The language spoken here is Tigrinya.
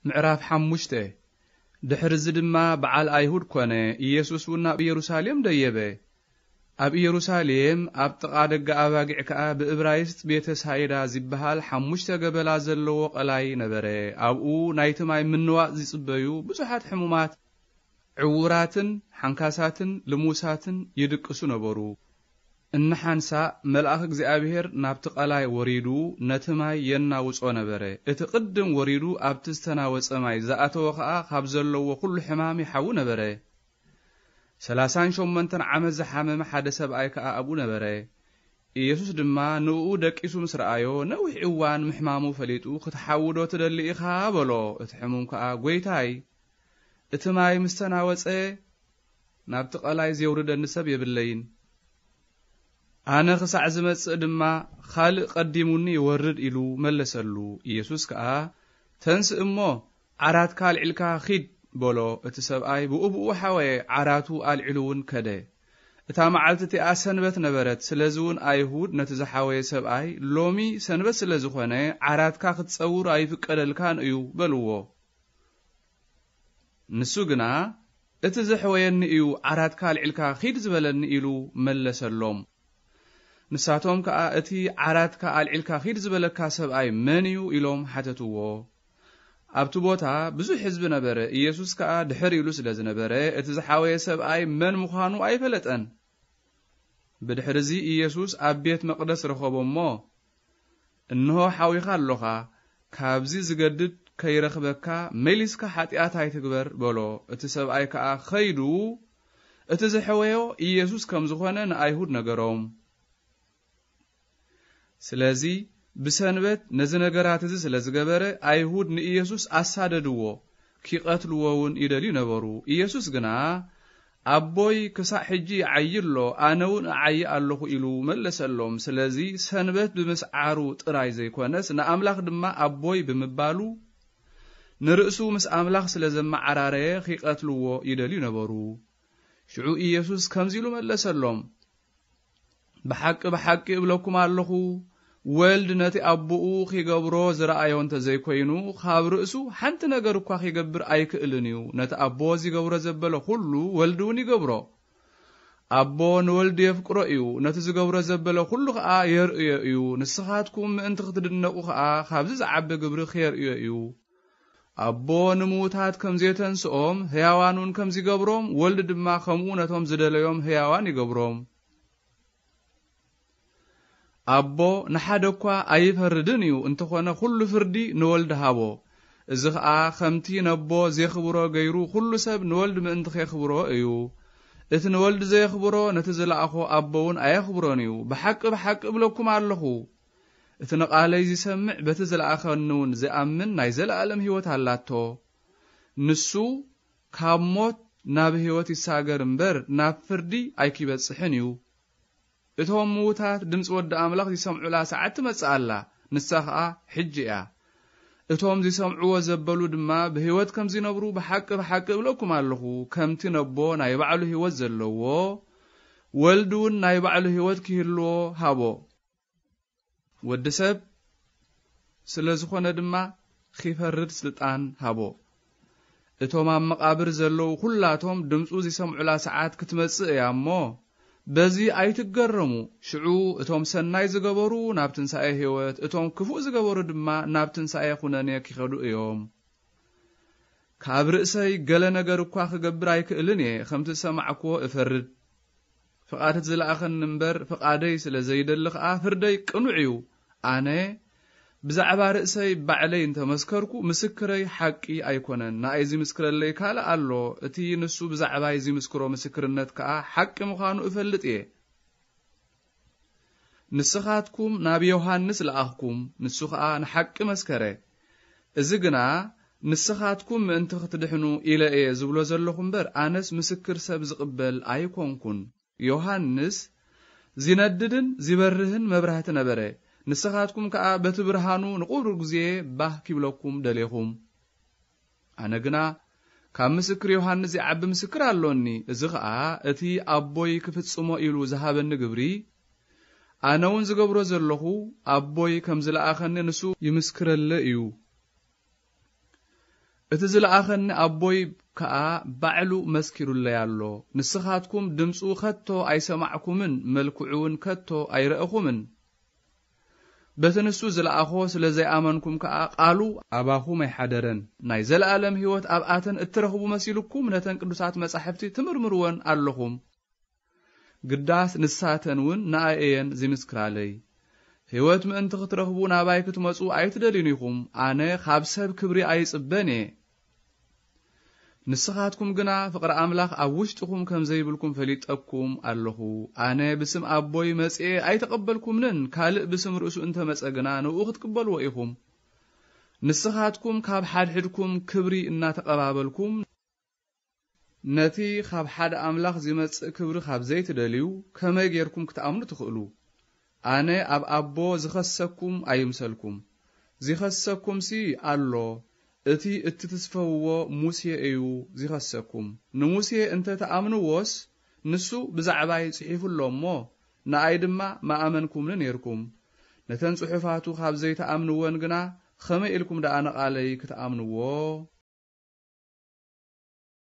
ምዕራፍ ሓሙሽተ። ድሕሪ እዚ ድማ በዓል ኣይሁድ ኮነ፣ ኢየሱስ እውን ናብ ኢየሩሳሌም ደየበ። ኣብ ኢየሩሳሌም ኣብ ጥቓ ደገ ኣባጊዕ ከኣ ብእብራይስጥ ቤተ ሳይዳ ዝበሃል ሓሙሽተ ገበላ ዘለዎ ቀላይ ነበረ። ኣብኡ ናይቲ ማይ ምንዋጽ ዝጽበዩ ብዙሓት ሕሙማት፣ ዕዉራትን ሓንካሳትን ልሙሳትን ይድቅሱ ነበሩ። እንሓንሳእ መልኣኽ እግዚኣብሔር ናብቲ ቀላይ ወሪዱ ነቲ ማይ የናውጾ ነበረ። እቲ ቅድም ወሪዱ ኣብቲ ዝተናወጸ ማይ ዝኣተወ ኸኣ ካብ ዘለዎ ኩሉ ሕማም ይሓዊ ነበረ። ሰላሳን ሸሞንተን ዓመት ዝሓመመ ሓደ ሰብኣይ ከኣ ኣብኡ ነበረ። ኢየሱስ ድማ ንእኡ ደቂሱ ምስ ረኣዮ፣ ነዊሕ እዋን ምሕማሙ ፈሊጡ፣ "ክትሓዊ ዶ ትደሊ ኢኻ?" በሎ። እቲ ሕሙም ከኣ፣ "ጐይታይ፣ እቲ ማይ ምስ ተናወጸ፣ ናብቲ ቀላይ ዜውርደኒ ሰብ የብለይን። ኣነ ክሳዕ ዝመጽእ ድማ፣ ካልእ ቀዲሙኒ ይወርድ" ኢሉ መለሰሉ። ኢየሱስ ከኣ፣ "ተንስእ እሞ፣ ዓራትካ ኣልዒልካ ኺድ" በሎ። እቲ ሰብኣይ ብኡብኡ ሓወየ፣ ዓራቱ ኣልዒሉ እውን ከደ። እታ መዓልቲ እቲኣ ሰንበት ነበረት፣ ስለዚ እውን ኣይሁድ ነቲ ዝሓወየ ሰብኣይ፣ "ሎሚ ሰንበት ስለ ዝኾነ፣ ዓራትካ ክትጸውር ኣይፍቀደልካን እዩ" በልዎ። ንሱ ግና፣ "እቲ ዘሕወየኒ እዩ፣ ዓራትካ ኣልዒልካ ኺድ ዝበለኒ" ኢሉ መለሰሎም። ንሳቶም ከኣ፣ "እቲ ዓራትካ ኣልዒልካ ኺድ ዝበለካ ሰብኣይ መን እዩ?" ኢሎም ሓተትዎ። ኣብቲ ቦታ ብዙሕ ህዝቢ ነበረ። ኢየሱስ ከኣ ድሕር ኢሉ ስለ ዝነበረ፣ እቲ ዝሓወየ ሰብኣይ መን ምዃኑ ኣይፈለጠን። ብድሕርዚ ኢየሱስ ኣብ ቤት መቕደስ ረኸቦ እሞ፣ "እንሆ ሓዊኻ ኣሎኻ፣ ካብዚ ዝገድድ ከይረኽበካ መሊስካ ሓጢኣት ኣይትግበር" በሎ። እቲ ሰብኣይ ከኣ ኸይዱ እቲ ዝሐወዮ ኢየሱስ ከም ዝኾነ ንኣይሁድ ነገሮም። ስለዚ ብሰንበት ነዚ ነገራት እዚ ስለ ዝገበረ፣ ኣይሁድ ንኢየሱስ ኣሳደድዎ፣ ኪቐትልዎ እውን ይደልዩ ነበሩ። ኢየሱስ ግና፣ "ኣቦይ ክሳዕ ሕጂ ይዓዪ ኣሎ፣ ኣነ እውን እዓዪ ኣለኹ" ኢሉ መለሰሎም። ስለዚ ሰንበት ብምስዓሩ ጥራይ ዘይኮነስ፣ ንኣምላኽ ድማ ኣቦይ ብምባሉ፣ ንርእሱ ምስ ኣምላኽ ስለ ዘመዓራረየ፣ ኺቐትልዎ ይደልዩ ነበሩ። ሽዑ ኢየሱስ ከምዚ ኢሉ መለሰሎም፣ "ብሓቂ፣ ብሓቂ እብለኩም ኣለኹ፣ ወልድ ነቲ ኣቦኡ ኺገብሮ ዝረኣዮ እንተ ዘይኮይኑ፣ ካብ ርእሱ ሓንቲ ነገር እኳ ኺገብር ኣይክእልን እዩ። ነቲ ኣቦ ዚገብሮ ዘበለ ኹሉ፣ ወልድ እውን ይገብሮ። ኣቦ ንወልድ የፍቅሮ እዩ፣ ነቲ ዚገብሮ ዘበለ ኹሉ ኸኣ የርእዮ እዩ። ንስኻትኩም ምእንቲ ኽትድነቑ ኸኣ፣ ካብዚ ዝዓቢ ግብሪ ኼርእዮ እዩ። ኣቦ ንምዉታት ከም ዜተንስኦም፣ ህያዋን እውን ከም ዚገብሮም፣ ወልድ ድማ ከምኡ ነቶም ዝደለዮም ህያዋን ይገብሮም። ኣቦ ንሓደ እኳ ኣይፈርድን እዩ፣ እንተኾነ ኹሉ ፍርዲ ንወልድ ሃቦ። እዚ ኸኣ ኸምቲ ነቦ ዜኽብሮ ገይሩ፣ ኹሉ ሰብ ንወልድ ምእንቲ ኼኽብሮ እዩ። እቲ ንወልድ ዘየኽብሮ፣ ነቲ ዝለኣኾ ኣቦ እውን ኣየኽብሮን እዩ። ብሓቂ፣ ብሓቂ እብለኩም ኣለኹ፣ እቲ ንቓለይ ዚሰምዕ፣ በቲ ዝለኣኸኒ እውን ዚኣምን ናይ ዘለኣለም ህይወት ኣላቶ። ንሱ ካብ ሞት ናብ ህይወት ይሳገር እምበር፣ ናብ ፍርዲ ኣይኪበጽሕን እዩ። እቶም ምዉታት ድምጺ ወዲ ኣምላኽ ዚሰምዑላ ሰዓት ትመጽእ ኣላ፣ ንሳ ኸኣ ሕጂ እያ። እቶም ዚሰምዕዎ ዘበሉ ድማ ብህይወት ከም ዚነብሩ ብሓቂ፣ ብሓቂ እብለኩም ኣለኹ፣ ከምቲ ነቦ ናይ ባዕሉ ህይወት ዘለዎ፣ ወልድ እውን ናይ ባዕሉ ህይወት ኪህልዎ ሃቦ። ወዲ ሰብ ስለ ዝኾነ ድማ ኺፈርድ ስልጣን ሃቦ። እቶም ኣብ መቓብር ዘለዉ ኹላቶም ድምፁ ዚሰምዑላ ሰዓት ክትመጽእ እያ እሞ፣ በዚ ኣይትገረሙ። ሽዑ እቶም ሰናይ ዝገበሩ ናብ ትንሳኤ ህይወት፣ እቶም ክፉእ ዝገበሩ ድማ ናብ ትንሳኤ ኹነኔ ኪኸዱ እዮም። ካብ ርእሰይ ገለ ነገር እኳ ክገብር ኣይክእልን እየ፣ ከምቲ ዝሰማዕክዎ እፈርድ። ፍቓድ እቲ ዝለኣኸኒ እምበር፣ ፍቓደይ ስለ ዘይደሊ ኸኣ፣ ፍርደይ ቅኑዕ እዩ። ኣነ ብዛዕባ ርእሰይ ባዕለይ እንተ መስከርኩ፣ ምስክረይ ሓቂ ኣይኮነን። ንኣይ ዚምስክረለይ ካልእ ኣሎ፣ እቲ ንሱ ብዛዕባይ ዚምስክሮ ምስክርነት ከኣ ሓቂ ምዃኑ እፈልጥ እየ። ንስኻትኩም ናብ ዮሃንስ ለኣኽኩም፣ ንሱ ኸኣ ንሓቂ መስከረ። እዚ ግና፣ ንስኻትኩም ምእንቲ ኽትድሕኑ ኢለ እየ ዝብሎ ዘለኹ እምበር፣ ኣነስ ምስክር ሰብ ዝቕበል ኣይኮንኩን። ዮሃንስ ዚነድድን ዚበርህን መብራህቲ ነበረ። ንስኻትኩም ከኣ በቲ ብርሃኑ ንቑሩብ ግዜ ባህ ኪብለኩም ደሌኹም። ኣነ ግና ካብ ምስክር ዮሃንስ ዚዓቢ ምስክር ኣሎኒ። እዚ ኸኣ እቲ ኣቦይ ክፍጽሞ ኢሉ ዝሃበኒ ግብሪ፣ ኣነ እውን ዝገብሮ ዘለኹ፣ ኣቦይ ከም ዝለኣኸኒ ንሱ ይምስክረለይ እዩ። እቲ ዝለኣኸኒ ኣቦይ ከኣ ባዕሉ መስኪሩለይ ኣሎ። ንስኻትኩም ድምፁ ከቶ ኣይሰማዕኩምን፣ መልክዑ እውን ከቶ ኣይረእኹምን። በቲ ንሱ ዝለኣኾ ስለ ዘይኣመንኩም ከኣ፣ ቃሉ ኣባኹም ኣይሓደረን። ናይ ዘለኣለም ህይወት ኣብኣተን እትረኽቡ መሲሉኩም፣ ነተን ቅዱሳት መጻሕፍቲ ትምርምርወን ኣለኹም። ግዳስ ንሳተን እውን ንኣይ እየን ዝምስክራለይ። ህይወት ምእንቲ ክትረኽቡ ናባይ ክትመጹ ኣይትደልዩን ኢኹም። ኣነ ካብ ሰብ ክብሪ ኣይጽበን እየ። ንስኻትኩም ግና ፍቕሪ ኣምላኽ ኣብ ውሽጥኹም ከም ዘይብልኩም ፈሊጠኩም ኣለኹ። ኣነ ብስም ኣቦይ መጺኤ ኣይተቐበልኩምንን፣ ካልእ ብስም ርእሱ እንተመጸ ግና ንእኡ ክትቅበልዎ ኢኹም። ንስኻትኩም ካብ ሓድሕድኩም ክብሪ እናተቐባበልኩም፣ ነቲ ካብ ሓደ ኣምላኽ ዚመጽእ ክብሪ ካብ ዘይትደልዩ፣ ከመይ ጌርኩም ክትኣምኑ ትኽእሉ? ኣነ ኣብ ኣቦ ዝኸሰኩም ኣይምሰልኩም። ዚኸሰኩምሲ ኣሎ፣ እቲ እትትስፈውዎ ሙሴ እዩ ዚኸሰኩም። ንሙሴ እንተ ትኣምንዎስ፣ ንሱ ብዛዕባይ ጽሒፉ ኣሎ እሞ፣ ንኣይ ድማ ምኣመንኩምኒ ኔርኩም። ነተን ጽሑፋቱ ካብ ዘይትኣምንወን ግና፣ ኸመይ ኢልኩም ደኣ ንቓለይ ክትኣምንዎ?